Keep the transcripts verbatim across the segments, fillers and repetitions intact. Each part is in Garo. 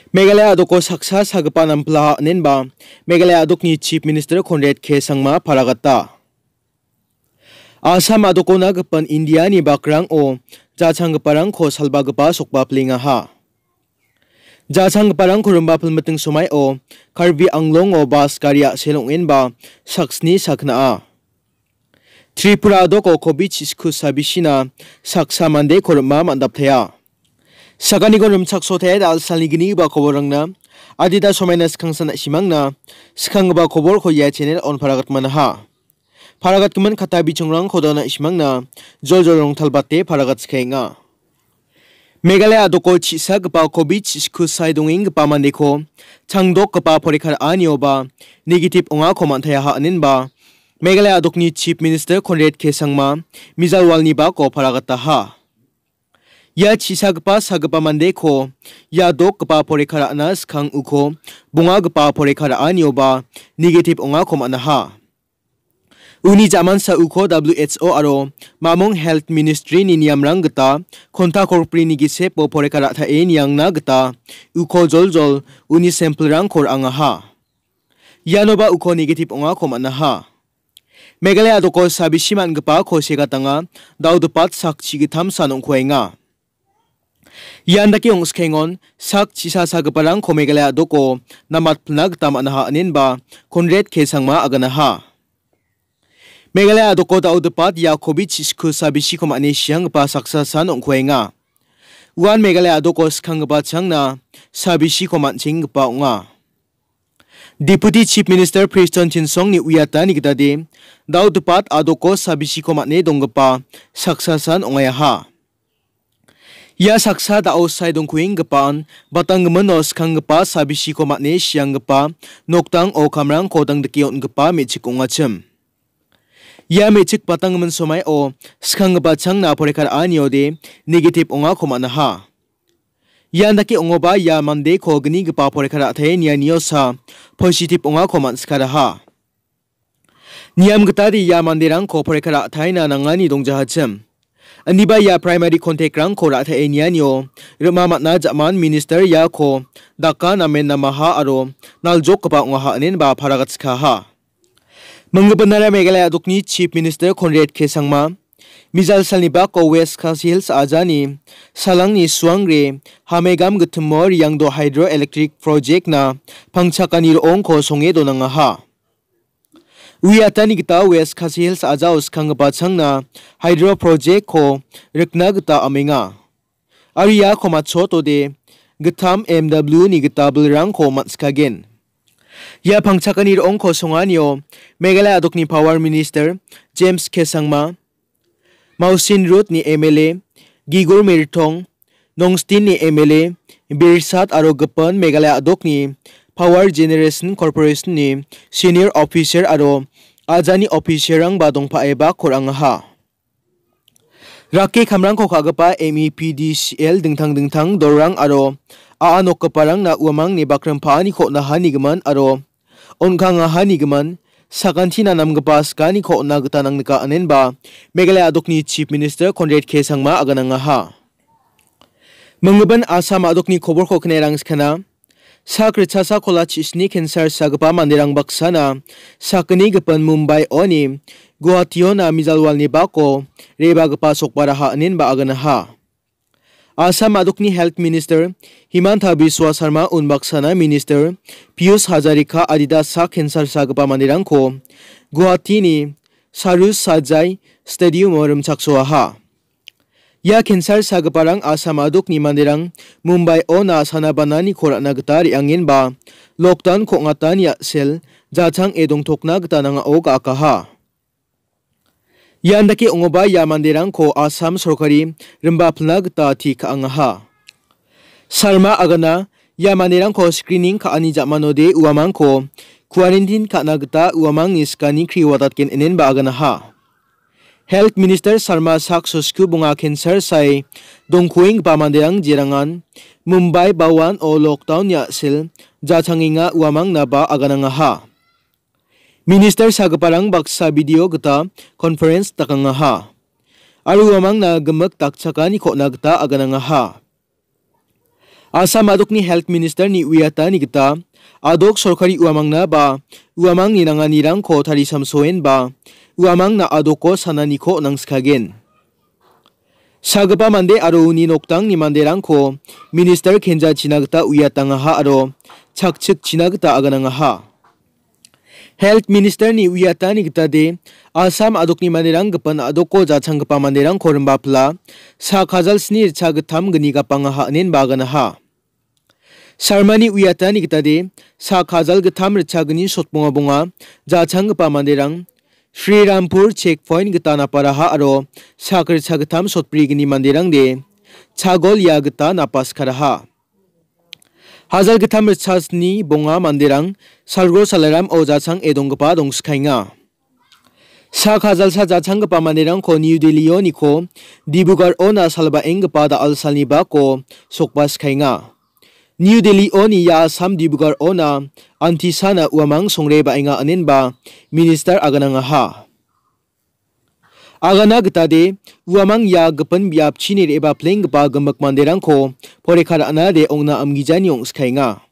Meghalaya a·doko saksa sagipa namplaha inenba Meghalaya a·dokni Chief Minister Conrad K Sangma paragata. Assam a·dokona gipin Indiani bakrang o jachanggiparangko salbagipa sokba plengaha. Jachanggiparangko rimba pilmiting somaio Karbi Anglongo bas gari a·sel ong·enba saksni sakna'a. Tripura a·doko covid chisku sabisina saksa mandeko rim·a man·daptaia. Sakaniko rimchaksotaia da·al salni gni ba koborangna adita somaina skangsan a·simangna skanggipa koborko ia channel on paragatmanaha. Paragatgimin kata bichongrangko dona a·simangna joljol rongtalbate paragatskaenga. Meghalaya a·doko chisagipa covid chisku sai dongenggipa mandeko changdokgipa porikha ra·anioba negative ongako man·taiaha inenba Meghalaya a·dokni Chief Minister Conrad K Sangma mijalwalni bako paragataha. Ia chisagipa sagipa mandeko ia dokgipa porikha ra·na skang uko bongagipa porikha ra·anioba negative ongako man·aha. Uni jamansa uko W H O aro Mamung Health Ministry-ni niamrang gita konta korprini gisepo porikha ra·tae niangna gita uko joljol uni sample-rangko ra·angaha. Ianoba uko negative ongako man·aha. Meghalaya a·doko sabisi man·gipako segatanga, dao·dipat sak chigittamsan ong·kuaenga. Ian dake ong·skengon sak chisasagiparangko Meghalaya a·doko namatpilna gita man·aha inenba Conrad K Sangma aganaha. Meghalaya a·doko dao·dipat ia covid chisku sabisiko man·e sianggipa saksasan ong·kuaenga. Uan Meghalaya a·doko skanggipa changna sabisiko man·chenggipa ong·a. Deputy Chief Minister Prestone Tynsongni uiatani gitade, dao·dipat a·doko sabisiko man·e donggipa saksasan ong·aiaha. Ia saksa da·o sae dongkuenggipaan batanggimino skanggipa sabisiko man·e sianggipa nokdang o kamrangko dangdike on·gipa me·chik ong·achim. Ia me·chik batanggimin somaio skanggipa changna porikha ra·aniode negative ongako man·aha. Ian dake ong·oba ia mandeko gnigipa porikha ra·tae nianiosa positive ongako man·sikaraha. Niam gitade ia manderangko porikha ra·taina nangani dongjahachim. Indiba ia primary contact-rangko ra·tae nianio rima man·a ja·man minister iako daka namen namaha aro naljokgipa ong·aha inenba paragatskaha. Minggipa nara Meghalaya a·dokni Chief Minister Conrad K Sangma, mijal salni bako West Khasi Hills ajani salangni suangre Hamegam gitimo Riangdo Hydroelectric Project-na pangchakani ro·ongko songe donangaha. Uiatani gita West Khasi Hills ajao skanggipa changna hydro project-ko rikna gita amenga. Aro iako matchotode gittam M W ni gita bilrangko man·sikagen. Ia pangchakani ro·ongko songanio Meghalaya a·dokni Power Minister James K Sangma, Mausin Road ni M L A Gigor Mertong, Nongstin ni M L A Birsat aro gipin Meghalaya a·dokni Power Generation Corporation ni senior officer aro ajani officer-rangba dongpaeba korangaha. Rake kamrangko ka·gipa M E P D C L dingtang dingtang dolrang aro a·a nokgiparangna uamangni bakrim pa·aniko on·aha nigimin aro on·kangaha nigimin sakantina namgipa sikaniko on·na gita nangnika inenba Meghalaya a·dokni Chief Minister Conrad K Sangma aganangaha. Minggipa Assam a·dokni koborko knerang skana. Sak ritchasa kola chisni cancer sagipa manderang baksana sakgni gipin Mumbai oni Guwahationa mijalwalni bako rebagipa sokbaraha inenba aganaha. Assam a·dokni Health Minister Himanta Biswa Sarma unbaksana Minister Piyush Hazarika adita sak cancer sagipa manderangko Guwahatini Saroj Sajai Stadiumo rimchaksoaha. Ia cancer sagiparang Assam a·dokni manderang Mumbai ona sana bananiko ra·na gita re·angenba lockdown-ko ong·atani a·sel jachang·e dongtokna gita nangao ga·akaha. Ian dake ong·oba ia manderangko Assam sorkari rimba pilna gita ti ka·angaha. Sarma agana ia manderangko screening ka·ani ja·manode uamangko quarantine ka·na gita uamangni skani kriwadatgen inenba aganaha. Health Minister Sarma sak sosku bonga cancer sae dongkuenggipa manderang jerangan Mumbai bawan o lockdown-ni a·sel jachangenga uamangnaba aganangaha. Minister sagiparang baksa video gita conference dakangaha. Aro uamangna gimik dakchakaniko on·na gita aganangaha. Assam adokni Health Minister-ni uiatani gita adok sorkari uamangna ba uamangni nanganirangko tarisamsoen ba uamangna adoko sananiko nangskagen. Sagipa mande aro uni noktangni manderangko minister kenjachina gita uiatangaha aro chakchikchina gita aganangaha. Health Minister-ni uiatani gitade, Assam adokni manderang gipin adoko jachanggipa manderangko rimbapila, sak hajal sni richa gittam gni gapangaha inenba aganaha. Sarmani uiatani gitade, sak hajal gittam richa gni sotbonga bonga jachanggipa manderang Srirampur checkpoint gita naparaha aro sak richa gittam sotbri gni manderangde chagol ia gita napaskaraha. Hajal gittam richa sni bonga manderang Salgo Salaram o jachang e donggipa dongskaenga. Sak hajalsa jachanggipa manderangko New Delhi-oniko Dibrugarh-ona salbaenggipa da·al salni bako sokbaskaenga. New Delhi-oni ia Assam Dibrugarh-ona antisana uamang songre baenga inenba minister aganangaha. Agana gitade, uamang ia gipin biapchini re·baplenggipa gimik manderangko poreka ra·nade ong·na amgijani ong·skaenga.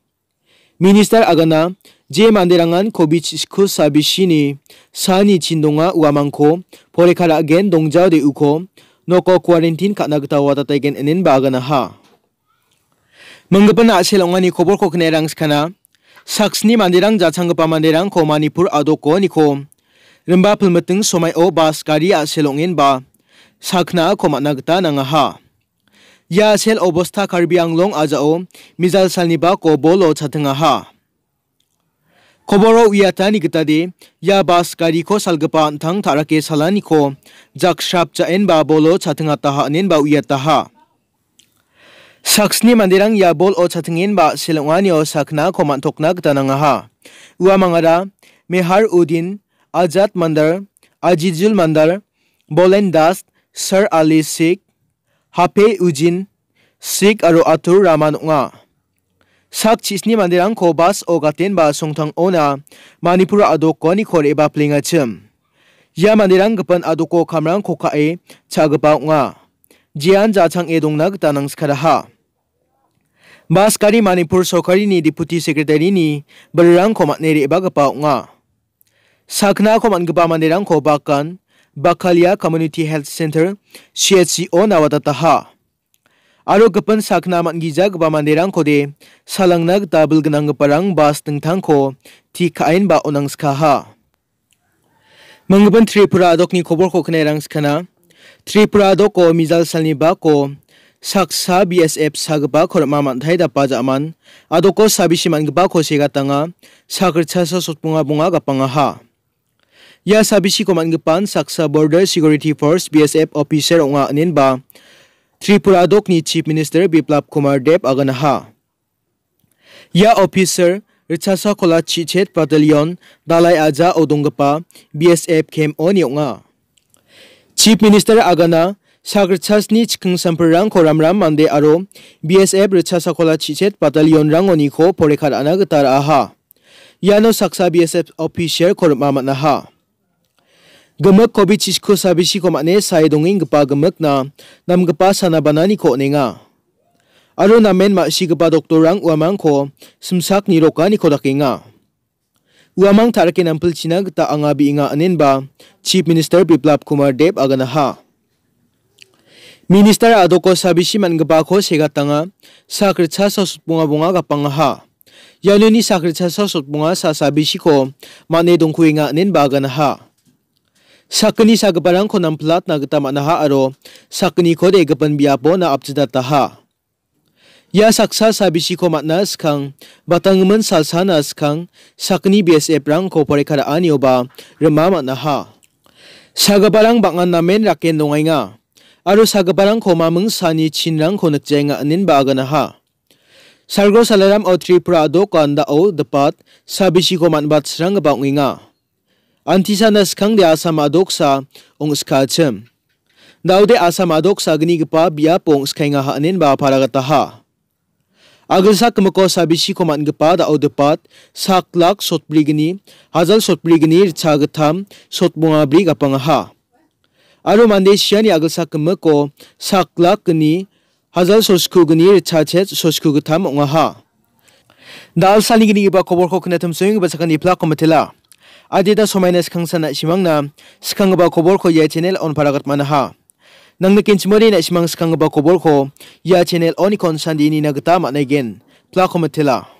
Minister agana, je manderangan covid chiko sabisini sani chindonga uamangko poreka ra·gen dongjao de·uko noko quarantine ka·na gita watataigen inenba aganaha. Minggipa a·sel ong·ani koborko kine rangskana. Saksni manderang jachanggipa manderangko Manipur adokoniko rimba pilmiting somaio bas gari a·sel ong·enba saknako man·a gita nangaha. Ia a·sel obosta Karbi Anglong ajao mijal salni bako bolo chatingaha. Koboro uiatani gitade, ia bas gariko salgipa an·tang ta·rake salaniko jaksrap ja·enba bolo chatingataha inenba uiataha. Saksni manderang ia bol o chatingenba a·sel ong·anio saknako man·tokna gita nangaha. Uamangara Mehar Udin, Ajat Mandar, Ajijul Mandar, Bolen Das, Sir Ali Sikh, Hape Ujin, Sikh aro Atur Rahman ong·a. Sak chisni manderangko bas o gatenba songtangona Manipur adokoniko re·baplengachim. Ia manderang gipin adoko kamrangko ka·e cha·gipa ong·a. Jean jachang·e dongna gita nangskaraha. Bas gari Manipur sorkarini deputy secretary-ni bilrangko man·e re·bagipa ong·a. Saknako man·gipa manderangko Bakan, Bakalia Community Health Center, C H C-o nawatataha. Aro gipin sakna man·gijagipa manderangkode salangna gita bilgnanggiparang bas dingtangko tikaenba onangskaha. Minggipa Tripura adokni koborko kine rangskana. Tripura adoko mijal salni bako saksa B S F sagipako rim·a man·tai dapa ja·man. Adoko sabisi man·gipako segatanga. Sak ritchasa sotbonga bonga gapangaha. Ia sabisiko man·gipan saksa Border Security Force, B S F, officer ong·a inenba Tripura adokni Chief Minister Biplab Kumar Deb aganaha. Ia officer ritchasa kola chichet battalion Dalai Aja o donggipa B S F camp-oni ong·a. Chief Minister agana sak ritchasni chiking samprirangko ramram mande aro B S F ritchasa kola chichet battalion-rangoniko poreka ra·na gita ra·aha. Iano saksa B S F officer-ko rim·a man·aha. Gimik covid chiko sabisiko man·e sae dongenggipa gimikna namgipa sana bananiko on·enga. Aro namen ma·sigipa doktorrang uamangko simsak nirokaniko dakenga. Uamang ta·rike nampilchina gita anga bi·enga inenba Chief Minister Biplab Kumar Deb aganaha. Minister adoko sabisi man·gipako segatanga sak ritchasa sotbonga bonga gapangaha. Ianoni sak ritchasa sotbonga sa sabisiko man·e dongkuenga inenba aganaha. Sakgni sagiparangko nampilatna gita man·aha aro sakgnikode gipin biapona apchidataha. Ia saksa sabisiko man·na skang, batanggimin salsana skang, sakgni B S F-rangko poreka ra·anioba rim·a man·aha. Sagiparang bang·an namen raken dongaenga, aro sagiparangko maming sani chinrangko nikjaenga inenba aganaha. Salgo Salaram o Tripura a·doko andao dipat sabisiko man·batsranggipa ong·enga. Antisana skangde Assam a·doksa ong·skachim. Daode Assam a·doksa gnigipa biapo ong·skaengaha inenba paragataha. Agilsak gimiko sabisiko man·gipa dao dipat sak lak sotbrigni, hajal sotbrigni ritchagittam sotbongabri gapangaha. Aro mande siani agilsak gimiko sak lak gni, Ajal sosku gni ritchachet sosku gittam ong·aha. Da·alsalni gnigipa koborko knatimsoenggipa sakani plako mitela. Adita somaina skangsan na·simangna skanggipa koborko ia channel on paragatmanaha. Nangnikenchimode na·simang skanggipa koborko ia channel onikon sandie nina gita man·aigen. Plako mitela.